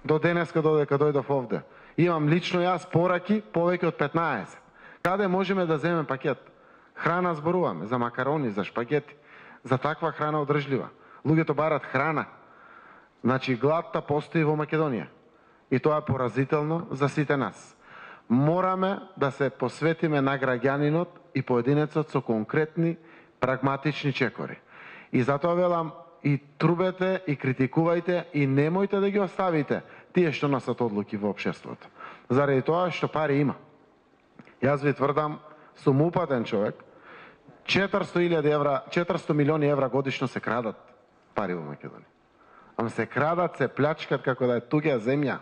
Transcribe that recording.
До денеска додека дојдов овде. Имам лично јас пораки повеќе од 15. Каде можеме да земеме пакет? Храна зборуваме, за макарони, за шпагети, за таква храна одржлива. Луѓето барат храна. Значи, гладта постои во Македонија. И тоа е поразително за сите нас. Мораме да се посветиме на граѓанинот и поединецот со конкретни, прагматични чекори. И затоа велам, и трубете, и критикувајте, и немојте да ги оставите тие што носат одлуки во општеството. Заради тоа што пари има. Јас ви тврдам, сум упатен човек, 400 милиони евра годишно се крадат пари во Македонија. Ама се крадат, се плячкат како да е туѓа земја.